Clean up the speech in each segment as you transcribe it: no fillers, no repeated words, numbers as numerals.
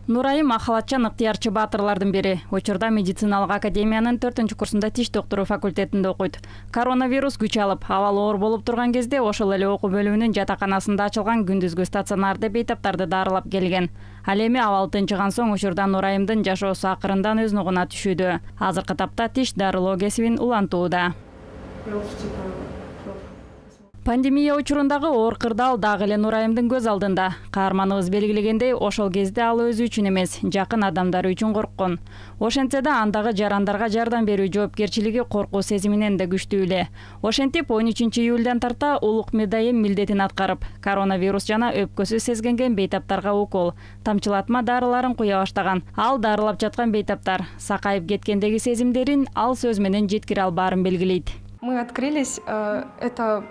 Нурайым Ахалатчан ыктыярчы баатырлардын бири. Учурда медициналык академиянын 4-курсунда тиш доктору факультетинде окуйт. Коронавирус күч алып, абалы оор болуп турган кезде ошол эле окуу бөлүмүнүн жатаканасында ачылган күндүзгү стационарды бейтаптарды дарылап келген. Ал эми абал тынчыган соң учурда Нурайымдын жашоосу акырындан өз нугуна түшүүдө. Азыркы тапта тиш дарылоо кесибин улантууда. Пандемия учурундагы оор кырдаал дагы эле Нурайымдын көз алдында. Каарманыбыз белгилегендей, ошол кезде ал өзү үчүн эмес, жакын адамдары үчүн корккон. Ошентсе да андагы жарандарга жардам берүү жоопкерчилиги коркуу сезиминен да күчтүү эле. Ошентип 13 июлдан тарта улук медайым милдетин аткарып, коронавирус жана өпкөсү сезгенген бейтаптарга укол, тамчылатма дарыларын куя баштаган. Ал дарылап жаткан бейтаптар сакайып кеткендеги сезимдерин ал сөз менен жеткире албаарын белгилейт. Мы открылись, это,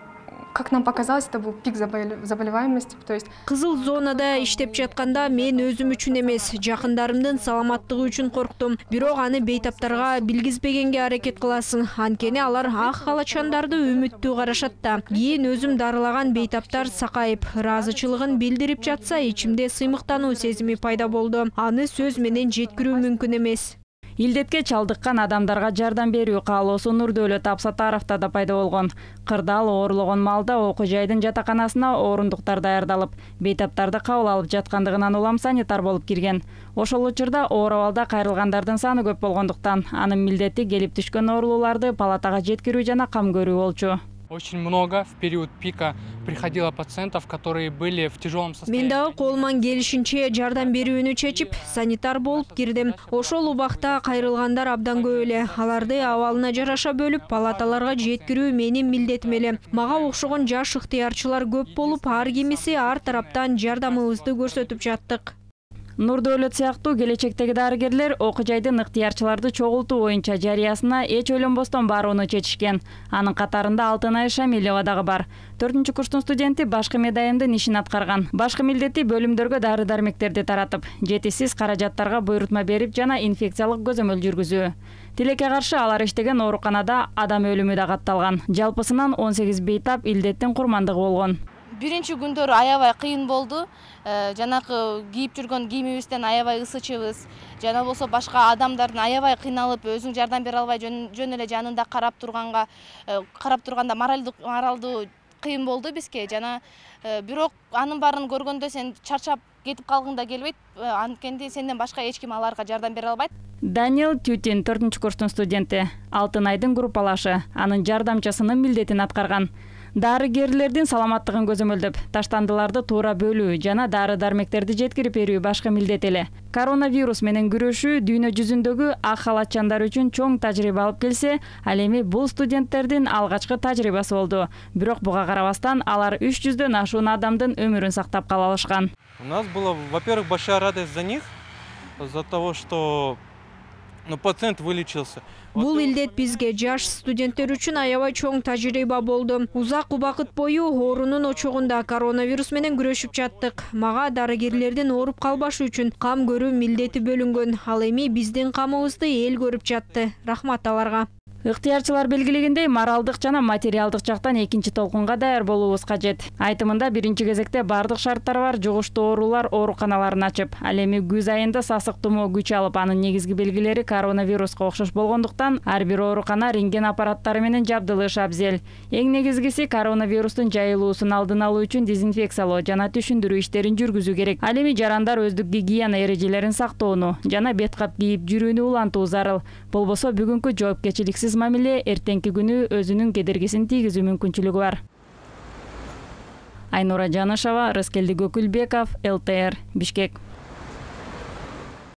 как нам показалось, это был пик заболеваемости, то есть. Кызыл зонада иштеп жатканда мен өзүм үчүн эмес, жакындарымдын саламаттыгы үчүн корктум. Бирок аны бейтаптарга билгизбегенге аракет кыласың. Анткени алар ак халачандарды үмүттүү карашат да. Кийин өзүм дарылаган бейтаптар сакайып, ыраазычылыгын билдирип жатса, ичимде сыймыктануу сезими пайда болду. Аны сөз менен жеткирүү мүмкүн эмес. Илдетке чалдыккан адамдарга жардам берүү каалоосу Нурдөөлөт Абсатаровда да пайда болгон. Кырдаал оорлогон маалда окуу жайдын жатаканасына орундуктар даярдалып, бейтаптарды кабыл алып жаткандыгынан улам санитар болуп кирген. Ошол учурда оор абалда кайрылгандардын саны көп болгондуктан анын милдети келип түшкөн оорулууларды палатага жеткирүү жана кам көрүү болчу. Очень много в период пика приходило пациентов, которые были в тяжелом состоянии. Мен дагы колуман келишинче жардам берүүнү чечип, санитар болуп кирдим. Ошол убакта кайрылгандар абдан көп эле. Аларды абалына жараша бөлүп, палаталарга жеткирүү менин милдетим эле. Мага окшогон жаш ыктыярчылар көп болуп, ар кимиси ар тараптан жардамыбызды көрсөтүп жаттык. Нурдөөлөт сыяктуу келечектеги дарыгерлер окуу жайдын ыктыярчыларды чогултуу боюнча жарыясына эч ойлонбостон барууну чечишкен. Анын катарында Алтынай Шамилова дагы бар. 4-курстун студенти башкы медайымдын ишин аткарган. Башкы милдети бөлүмдөргө дары-дармектерди таратып, жетишсиз каражаттарга буйрутма берип жана инфекциялык көзөмөл жүргүзүү. Тилекке каршы алар иштеген ооруканада адам өлүмү да катталган. Жалпысынан 18 бейтап илдеттин курмандыгы болгон. Биринчи күндөрү аябай кыйын болду. Жанакы кийип жүргөн кийимибизден аябай ысычыбыз. Жана болсо башка адамдардын аябай кыйналып, өзүң жардам бере албай жөн эле жанында карап турганда моралдуу кыйын болду бизге. Жана бирок анын баарын көргөндө сен чарчап кетип калгың да келбейт. Анткени сенден башка эч ким аларга жардам бере албайт. Даниэл Тютин 4-курстун студенти, Алтынайдын группалашы, анын жардамчысынын милдетин аткарган. Дарыгерлердин саламаттыгын көзөмөлдөп, таштандыларды туура бөлүү жана дары-дармектерди жеткирип берүү башка милдет эле. Коронавирус менен күрөшүү дүйнө жүзүндөгү ак халатчандар үчүн чоң тажрыйба алып келсе, ал эми бул студенттердин алгачкы тажрыйбасы болду. Бирок буга карабастан алар 300дөн ашуун адамдын өмүрүн сактап кала алышкан. У нас была, во-первых, большая радость за них, за того, что пациент вылечился. Бул илдет бизге, жаш студенттер үчүн аябай чоң тажрыйба болду. Узак убакыт бою оорунун очогунда коронавирус менен күрөшүп жаттык. Мага дарыгерлердин ооруп калбашы үчүн кам көрүү милдети бөлүнгөн. Ал эми биздин камыбызды эл көрүп жатты. Рахмат аларга. Ыктыярчылар белгилегендей, моралдык жана материалдык жактан экинчи толкунга даяр болуубуз кажет. Айтымында биринчи кезекте бардык шарттары бар жугуштуу оорулар ооруканаларын ачып, ал эми күз айында сасык тумоо күч алып, анын негизги белгилери коронавируска окшош болгондуктан ар бир оорукана рентген аппараттары менен жабдылышы абзел. Эң негизгиси коронавирустун жайылуусун алдын алуу үчүн дезинфекциялоо жана түшүндүрүү иштерин жүргүзүү керек. Ал эми жарандар өздүк гигиена эрежелерин сактоону жана бет кап кийип жүрүүнү улантуу зарыл. Болбосо бүгүнкү жоопкерчиликсиз мамиле эртеңки күнү өзүнүн кедергисин тийгизүү мүмкүнчүлүгү бар. Айнура Жанышева, Рыскелди Көкүлбеков, ЛТР, Бишкек.